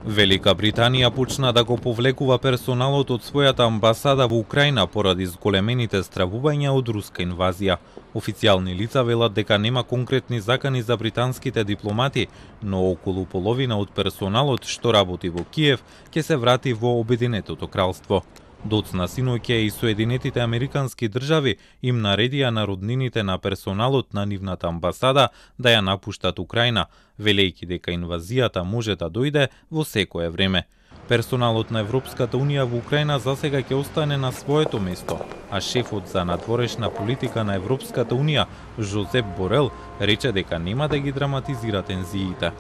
Велика Британија почна да го повлекува персоналот од својата амбасада во Украина поради зголемените стравувања од руска инвазија. Официјални лица велат дека нема конкретни закани за британските дипломати, но околу половина од персоналот што работи во Киев ќе се врати во Обединетото кралство. Доцна синоќа и Соединетите Американски држави им наредија на роднините на персоналот на нивната амбасада да ја напуштат Украина, велејќи дека инвазијата може да дојде во секое време. Персоналот на Европската Унија во Украина засега ќе остане на своето место, а шефот за надворешна политика на Европската Унија, Жозеп Борел, рече дека нема да ги драматизира тензиите.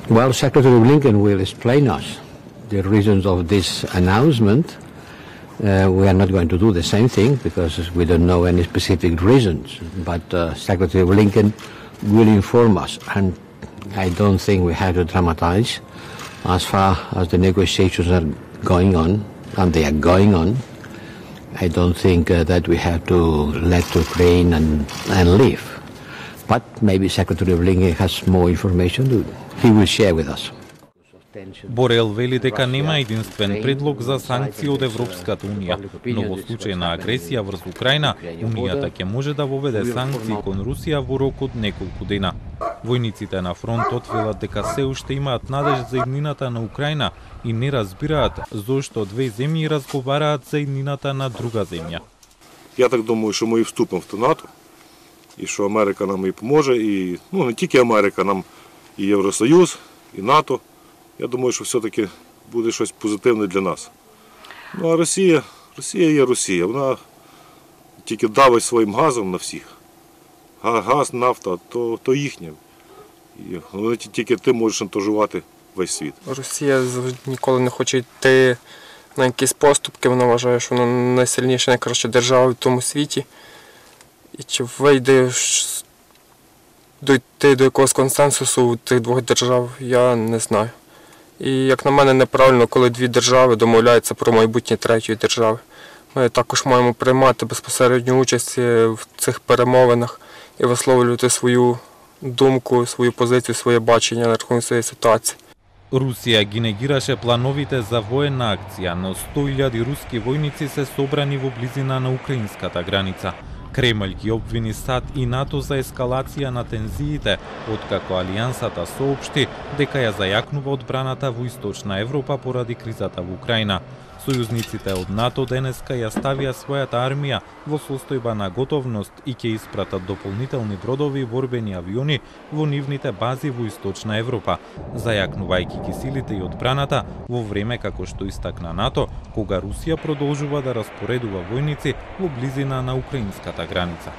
Well, Secretary Blinken will explain us the reasons of this announcement. We are not going to do the same thing because we don't know any specific reasons, but Secretary Blinken will inform us, and I don't think we have to dramatize as far as the negotiations are going on, and they are going on. I don't think that we have to let Ukraine and leave, but maybe Secretary Blinken has more information he will share with us. Борел вели дека нема единствен предлог за санкции од Европската Унија, но во случај на агресија врз Украина, Унијата ќе може да воведе санкции кон Русија во рок од неколку дена. Војниците на фронтот велат дека се уште имаат надеж за иднината на Украина и не разбираат зошто две земји разговараат за иднината на друга земја. Я так думаю, што ми вступим в НАТО и што Америка нам и поможе, и не тільки Америка, нам и Євросоюз, и НАТО. Я думаю, що все-таки буде щось позитивне для нас. Ну а Росія є Росія, вона тільки давить своїм газом на всіх. Газ, нафта, то їхнє. І тільки ти можеш шантажувати весь світ. Росія ніколи не хоче йти на якісь поступки, вона вважає, що вона найсильніша, найкраща держава в тому світі. І чи вийде дойти до якогось консенсусу у тих двох держав, я не знаю. І, як на мене, неправильно, коли дві держави домовляються про майбутнє третьої держави. Ми також маємо приймати безпосередню участь в цих перемовинах і висловлювати свою думку, свою позицію, своє бачення на рахунок цієї ситуації. Русија ги негираше плановите за военна акција, но 100.000 руски војници се собрани во близина на украинската граница. Кремљ ги обвини САД и НАТО за ескалација на тензиите, откако Алијансата соопшти дека ја зајакнува одбраната во Источна Европа поради кризата во Украина. Сојузниците од НАТО денеска ја ставија својата армија во состојба на готовност и ќе испратат дополнителни бродови и борбени авиони во нивните бази во Источна Европа, зајакнувајќи ги силите и одбраната во време како што истакна НАТО, кога Русија продолжува да распоредува војници во близина на украинската граница.